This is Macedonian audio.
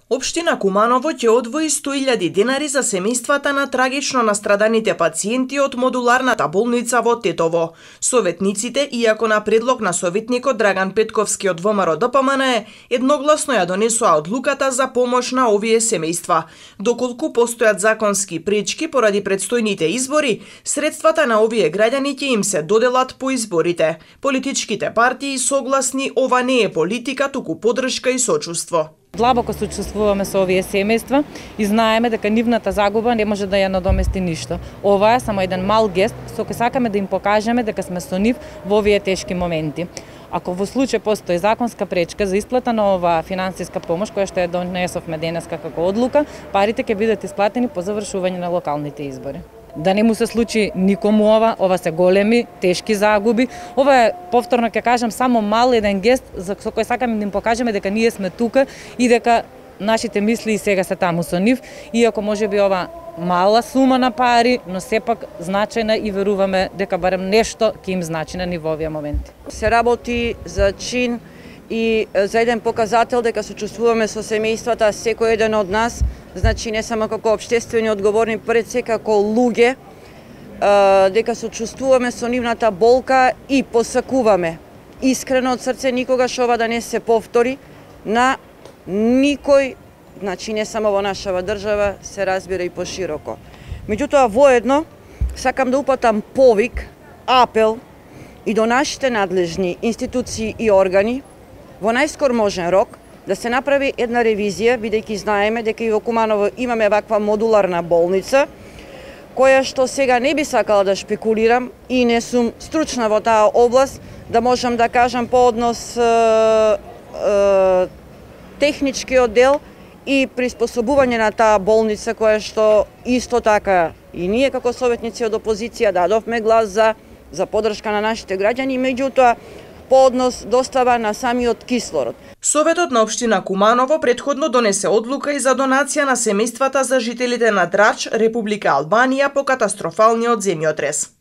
Општина Куманово ќе одвои 100.000 денари за семејствата на трагично настраданите пациенти од модуларната болница во Тетово. Советниците, иако на предлог на советникот Драган Петковски од ВМРО-ДПМН, едногласно ја донесоа одлуката за помош на овие семејства. Доколку постојат законски пречки поради предстојните избори, средствата на овие граѓани ќе им се доделат по изборите. Политичките партии согласни ова не е политика, туку поддршка и сочувство. Длабоко сочувствуваме со овие семејства и знаеме дека нивната загуба не може да ја надомести ништо. Ова е само еден мал гест со кој сакаме да им покажеме дека сме со нив во овие тешки моменти. Ако во случај постои законска пречка за исплата на оваа финансиска помош која што ја донесовме денеска како одлука, парите ќе бидат исплатени по завршување на локалните избори. Да не му се случи никому ова се големи, тешки загуби. Ова е, повторно ќе кажам, само мал еден гест со кој сакаме да им покажеме дека ние сме тука и дека нашите мисли и сега се таму со нив, иако можеби ова мала сума на пари, но сепак значајна и веруваме дека барем нешто ќе им значи на ниво овие моменти. Се работи за чин и за еден показател дека сочувствуваме со семејствата, секој еден од нас, значи не само како општествени одговорни, пред се како луѓе, дека сочувствуваме со нивната болка и посакуваме искрено од срце никогаш ова да не се повтори на никој, значи не само во нашава држава, се разбира и пошироко. Меѓутоа, воедно, сакам да упатам повик, апел и до нашите надлежни институции и органи, во најскор можен рок, да се направи една ревизија, бидејќи знаеме дека и во Куманово имаме ваква модуларна болница, која што сега не би сакала да шпекулирам и не сум стручна во таа област, да можам да кажам по однос техничкиот дел и приспособување на таа болница, која што исто така и ние како советници од опозиција дадовме глас за поддршка на нашите граѓани, меѓутоа по однос достава на самиот кислород. Советот на општина Куманово претходно донесе одлука и за донација на семејствата за жителите на Драч, Република Албанија по катастрофалниот земјотрес.